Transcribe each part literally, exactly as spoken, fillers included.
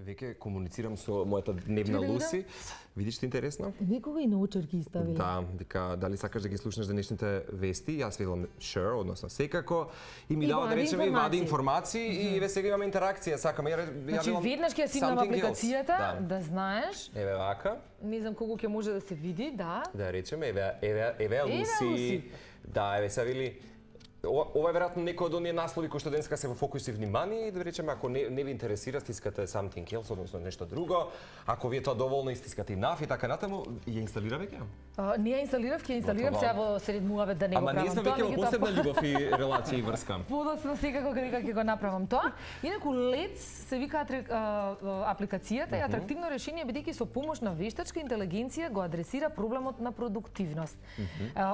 Веќе комуницирам со мојата дневна Луси. Видиш ти интересно? Некога и научарки ставили. Да, вика дали сакаш да ги слушнеш денешните вести? Јас велам sure, односно секако. И ми дава да речеме и вади информации и ве сега имаме интеракција, сакаме. Ја Значи веднаш ќе ја симнам апликацијата, да. да знаеш. Еве вака. Не знам колку ќе може да се види, да. Да речеме еве еве еве Луси. Да, еве се вели. Ова е веројатно некој од оние наслови кои што денеска се во фокус и внимание и да речеме ако не, не ви интересира стискате something else, односно нешто друго. Ако ви е тоа доволно и стискате enough и така натаму, ја инсталира веќе? А, не ја инсталирав, ќе инсталирам сега во сред муавет да не го правам тоа. Ама ние сме веќе во посебна љубов и релација и врска. Подоцна секако кога ќе го направам тоа. Инаку Лец се вика апликацијата и атрактивно решение бидејќи со помош на вештачка интелигенција го адресира проблемот на продуктивност.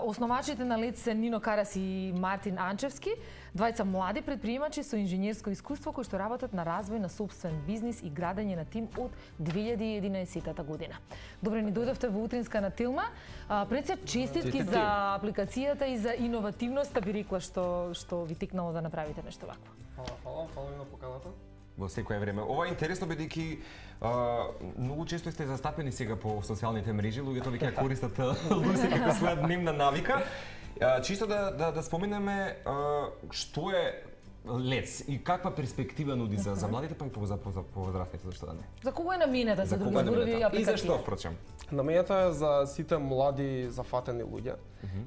Основачите на Лец се Нино Карас и Мартин Анчевски, двајца млади предприемачи со инженерско искуство кои што работат на развој на сопствен бизнис и градење на тим од две илјади и единаесетта година. Добре ни дојдовте во утринска на Тилма. Пред се честитки за апликацијата и за иновативноста, би рекла, што што ви текнало да направите нешто вакво. Фала, фала, фала на поканата. Во секое време. Ова е интересно бидејќи многу често сте застапени сега по социјалните мрежи, луѓето веќе користат Луси како своја дневна навика. Чисто да, да, да споменеме што е Лец и каква перспектива нуди за, за младите, па и по, за, за повозрастните, зашто да не? За кого е наменета, за други зборови апликација? И зашто, впрочем? Наменета е за сите млади зафатени луѓе,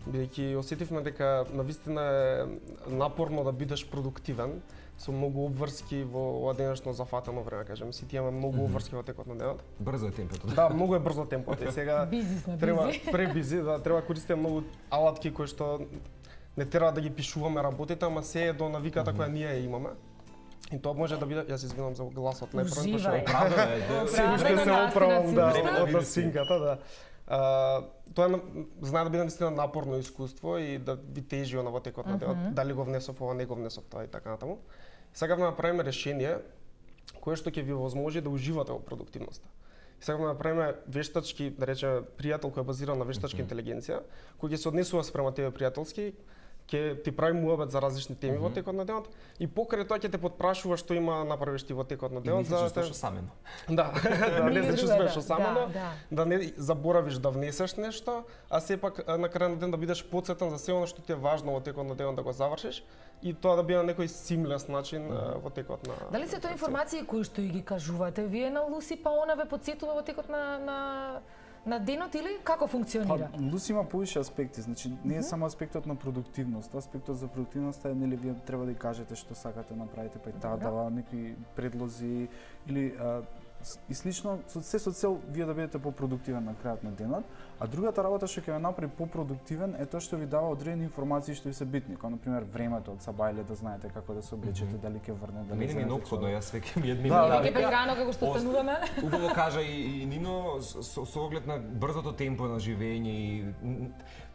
бидејќи осетивме дека навистина е напорно да бидеш продуктивен, со многу обврски во ова денешно зафатено време, кажем, сите имаме многу обврски во текот на денот. Брзо е темпото. Да, многу е брзо темпото и сега треба пребизи, да треба користиме многу алатки кои што не треба да ги пишуваме работите, ама се е до навиката mm -hmm. која ние ја имаме. И тоа може да биде, јас извинувам за гласот, не прво што оправдано е, да се уште се оправам да од синката, да. Uh, тоа е, знае да биде наистина напорно искуство и да ви тежи она во текот на денот, mm -hmm. дали го внесов ова, не го внесов тоа и така натаму. Сакавме да направиме решение кое што ќе ви возможи да уживате во продуктивноста. Сакавме да направиме вештачки, да речеме, пријател кој е базиран на вештачка mm -hmm. интелигенција, кој ќе се однесува спрема тебе пријателски, ќе ти прави муабет за различни теми mm -hmm. во текот на денот и покрај тоа ќе те потпрашува што има направиш ти во текот на денот за да те самено. Да, да не се чувствуваш осамено, да не заборавиш да внесеш нешто, а сепак на крај на ден да бидеш потсетен за се она што ти е важно во текот на денот да го завршиш и тоа да биде на некој симлес начин mm -hmm. во текот на. Дали се тоа информации кои што и ги кажувате вие на Луси, па она ве потсетува во текот на на на денот или како функционира? Па, Луси има повише аспекти, значи не е mm -hmm. само аспектот на продуктивност, аспектот за продуктивноста е нели вие треба да кажете што сакате да направите, па и таа дава некои предлози или а, и слично, се со цел вие да бидете попродуктивен на крајот на денот, а другата работа што ќе ве направи попродуктивен е тоа што ви дава одредени информации што ви се битни, како на пример времето од сабајле, да знаете како да се облечете, mm -hmm. дали ќе врне, дали мене ми е неопходно, јас веќе ми едни да, веќе па рано како што стануваме. Убаво кажа и, и Нино со, со оглед на брзото темпо на живење и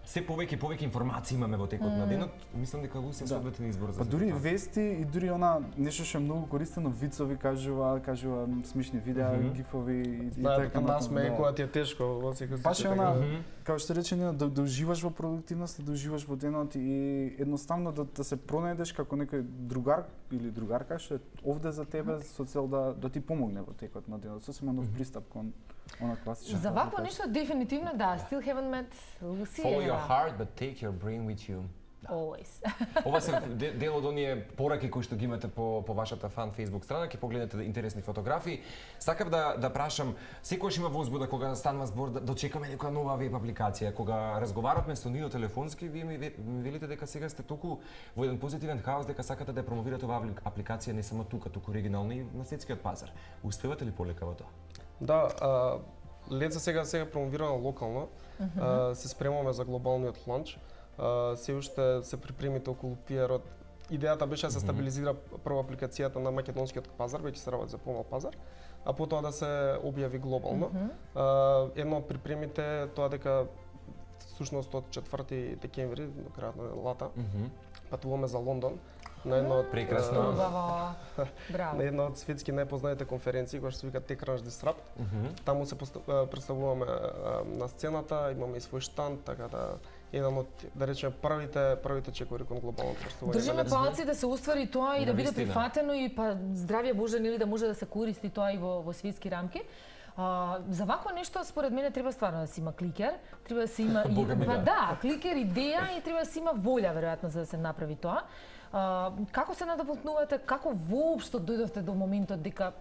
се повеќе и повеќе информации имаме во текот mm. на денот, мислам дека Луси е соодветен избор за. Па дури вести и дури она нешто што е многу користено, вицови кажува, кажува смешни видеа, mm -hmm. гифови и, и така натаму. Нас ме кога ти е тешко во секој случај. Баш она, како што рече, да, да уживаш во продуктивност, да уживаш во денот и едноставно да, да се пронајдеш како некој другар или другарка што е овде за тебе со цел да да ти помогне во текот на денот. Сосема нов пристап кон она класична. За вакво нешто дефинитивно да, still haven't met Lucy. Follow your heart but take your brain with you. Да. Always. Ова се дел од оние пораки кои што ги имате по по вашата фан Facebook страна, ќе погледнете интересни фотографии. Сакав да да прашам, секогаш има возбуда кога станува збор да дочекаме некоја нова веб апликација. Кога разговаравме со Нино телефонски, вие ми, ми велите дека сега сте толку во еден позитивен хаос дека сакате да ја промовирате оваа апликација не само тука, туку оригинално и на светскиот пазар. Успевате ли полека во тоа? Да, а, Леца сега сега промовирано локално. Mm -hmm. а, се спремаме за глобалниот ланч. Uh, се уште се припремите околу пиарот. Идејата беше да се стабилизира прво апликацијата на македонскиот пазар, веќе се работи за помал пазар, а потоа да се објави глобално. Mm -hmm. uh, едно од припремите тоа дека всушност од четврти декември до крајот на лата mm -hmm. патуваме за Лондон на едно од прекрасно на едно од светски најпознаните конференции која што се вика TechCrunch Disrupt. Mm -hmm. Таму се представуваме на сцената, имаме и свој штанд, така да еден од, да речеме, првите првите чекори кон глобалното врстување. Држиме палци да се уствари тоа и да биде Навистина. прифатено и па здравје Боже нели да може да се користи тоа и во во светски рамки. А, за вакво нешто според мене треба стварно да се има кликер, треба да се има и Бога ми, па да. да, кликер идеја и треба да се има волја веројатно за да се направи тоа. А, како се надоволтнувате, како воопшто дојдовте до моментот дека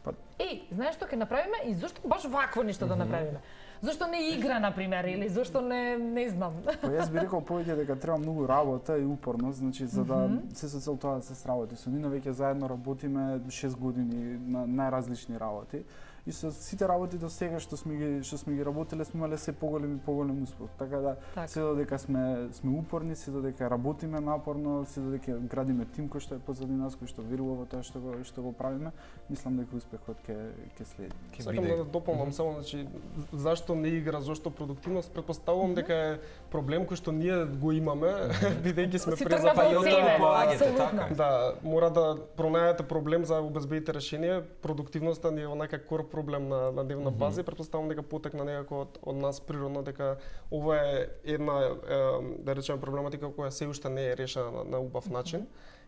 Па- Еј, знаеш што ќе направиме и зошто баш вакво нешто да направиме? Зошто не игра на пример или зошто не не знам. Па јас би рекол повеќе дека треба многу работа и упорност, значи за да се со цел тоа да се сработи. Со Нино веќе заедно работиме шест години на најразлични работи. И со сите работи до сега што сме ги што сме ги работеле сме имале се поголем и поголем успех. Така да Така. се додека сме сме упорни, се додека работиме напорно, се додека градиме тим кој што е позади нас, кој што верува во тоа што го што го правиме, мислам дека успехот ќе ќе следи. Сакам да дополнам само, значи, зашто не игра, зашто продуктивност, претпоставувам дека е проблем кој што ние го имаме, бидејќи сме Си презапаѓани. тргнав од себе, полагате, апсолутно. така е. Да, мора да пронајдете проблем за да обезбедите решение. Продуктивноста ни е онака кор проблем на, на дневна база и претпоставувам дека потекна некако од, од нас природно, дека ова е една, е, да речеме, проблематика која се уште не е решена на, на убав начин.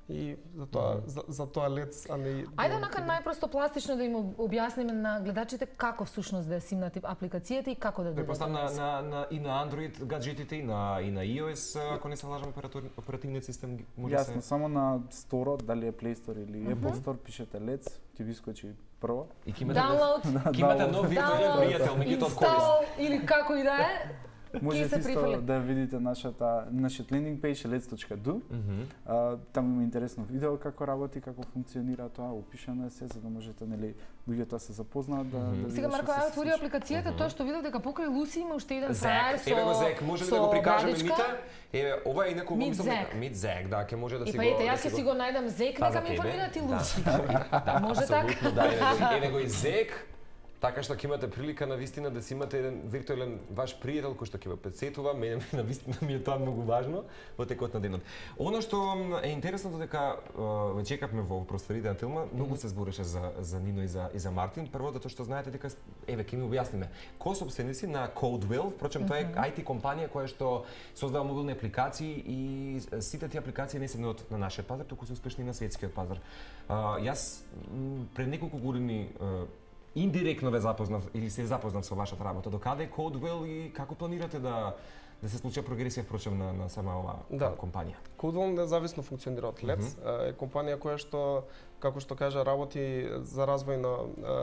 И за тоа, за, за тоа лец, а не... Ајде онака најпросто пластично да им објасниме на гледачите како всушност да ја симнати апликацијата и како да дојде. Препоставам на, на, на, и на Android гаджетите и на, и на iOS, ако не се лажам, оператор- оперативниот систем може Јасно, се... само на Store, дали е Play Store или Apple Store, пишете Let's, ќе ви скочи прво. И ќе имате, Download, ќе имате нов виртуелен download, пријател, меѓутоа од корист. install или како и да е. Можете се исто прифрли. да видите нашата нашиот лендинг пејдж lets точка do. А, Таму има интересно видео како работи, како функционира тоа, опишано е се за да можете нели луѓето да се запознаат да, да Сега видат Марко, што се ја отвори случува. апликацијата, тоа што видов дека покрај Луси има уште еден Зек, фраер со еве го Зек, може ли да со го прикажеме брадичка? мите? Еве, ова е инаку го Мит мислам Зек. дека Мит Зек, да, ќе може да И си па го ете, да јас ќе си го најдам Зек, Па, нека за ми тебе? информират и Да. Луси. Да, Може така? апсолутно, да, еве го, еве го и Зек. Така што ќе имате прилика на вистина да си имате еден виртуелен ваш пријател кој што ќе ве претсетува, мене на вистина ми е тоа многу важно во текот на денот. Оно што е интересно дека ве чекавме во просторите на Тилма, многу се збореше за за Нино и за и за Мартин. Прво затоа што знаете дека еве ќе ми објасниме. Кои се собственици на CodeWell, впрочем тоа е ай ти компанија која што создава мобилни апликации и сите тие апликации не се од на нашиот пазар, туку се успешни на светскиот пазар. А, јас м, пред неколку години индиректно ве запознав или се запознав со вашата работа. Докаде е CodeWell и како планирате да да се случи прогресија впрочем на на сама оваа Да. компанија? CodeWell независно функционира од Let's. Е компанија која што, како што кажа, работи за развој на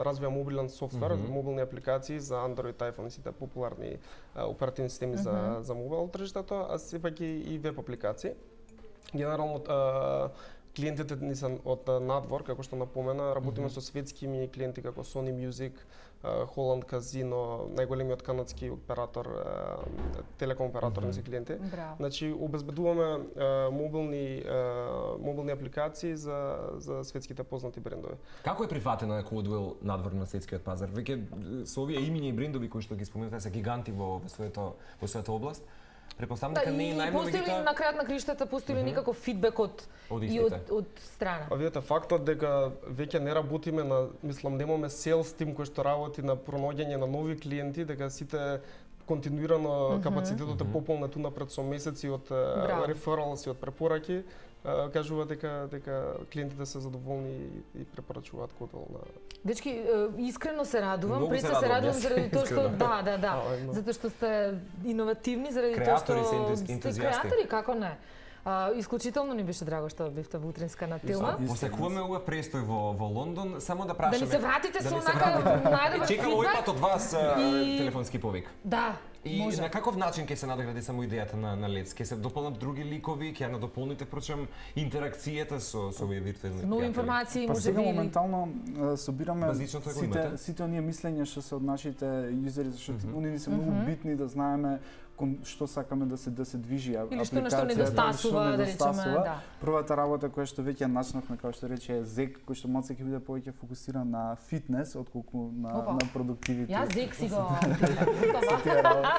развија мобилен софтвер, мобилни апликации за Android, iPhone и сите популарни а, оперативни системи за за мобилно тржиштето, а сепак и, и веб апликации. Генерално а, клиентите ни се од надвор, како што напомена, работиме со светски имени клиенти како Sony Music, Holland Casino, најголемиот канадски оператор, телеком оператор mm -hmm. ни се клиенти. Браво. Значи обезбедуваме а, мобилни а, мобилни апликации за за светските познати брендови. Како е прифатена CodeWell надвор на светскиот пазар? Веќе со овие имени и брендови кои што ги споменувате се гиганти во во своето во својата област. Препоставам Да, дека не е и најмногу постои ли на крајот на криштата, постои ли никаков фидбек од Од и истите. од од страна? А видите, фактот дека веќе не работиме на, мислам, немаме селс тим кој што работи на пронаоѓање на нови клиенти, дека сите континуирано mm -hmm. капацитетот е пополнет унапред со месеци од рефералс и од препораки, а, кажува дека дека клиентите се задоволни и, и препорачуваат CodeWell на. Дечки, е, искрено се радувам, Многу пред се се се радувам, радувам јас, заради тоа што искрено. да, да, да, А, едно. затоа што сте иновативни, заради тоа Креатори што се, ентуз- сте ентузијасти. креатори, како не. А, исклучително ни беше драго што бевте во утринска на Тилма. Посекуваме ова престој во во Лондон, само да Да прашаме. ни се вратите да со ни се онака вратите. најдобар Чекам овој фидбек. пат од вас а, И- телефонски повик. Да, И може. на каков начин ќе се надгради само идејата на на Let's? Ќе се дополнат други ликови, ќе ја надополните впрочем интеракцијата со со овие виртуелни Нови пријатели? информации, Па може сега би. или- моментално а, собираме Базичното го сите имате? сите оние мислења што се од нашите юзери, зашто они ни се многу битни да знаеме кон што сакаме да се да се движи а- Или што нешто апликацијата, недостасува, што да речеме, недостасува. да. Првата работа која што веќе ја начнавме, како што рече Зек, кој што малце ќе биде повеќе фокусиран на фитнес отколку на Опа. на продуктивитет. Јас Зек си го Со тие работи.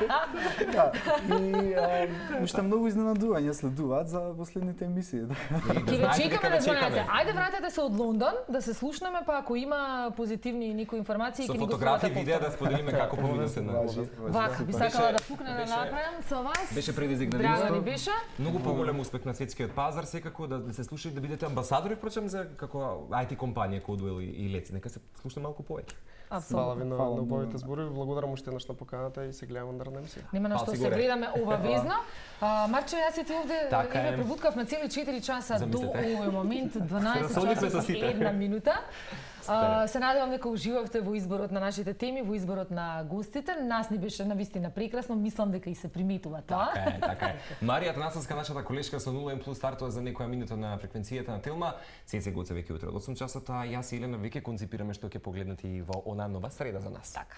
Да, и а, уште многу изненадувања следуваат за последните емисии. Ќе ве чекаме да звонете. Ајде вратете се од Лондон, да се слушнеме, па ако има позитивни некои информации, ќе ни го фотографии, видеа да споделиме како поминате на. Вака, би сакала да пукне да направам со вас. Беше предизвик на Драго ни нивото. беше. Многу поголем успех на светскиот пазар, секако да, да се слуша и да бидете амбасадори, впрочем, за како ай ти компанија Codewell и, и Лец. Нека се слуша малку повеќе. Фала ви на, Фала на многу. убавите зборови, благодарам уште еднаш на поканата и се гледаме наредна емисија. Нема на што Палци се горе. гледаме обавезно. А, Марче, јас и ти овде Така еве е. пребуткав на цели четири часа до Замислете. овој момент, дванаесет Расолихме со часот и сите. една минута. А, се надевам дека уживавте во изборот на нашите теми, во изборот на гостите. Нас ни беше навистина прекрасно, мислам дека и се приметува тоа. Така е, така е. Марија Атанасовска, нашата колешка со нула М плюс стартува за некоја минута на фреквенцијата на Телма. Цеце Гоце веќе утре од осум часот, а јас и Елена веќе концепираме што ќе погледнете и во она нова среда за нас. Така.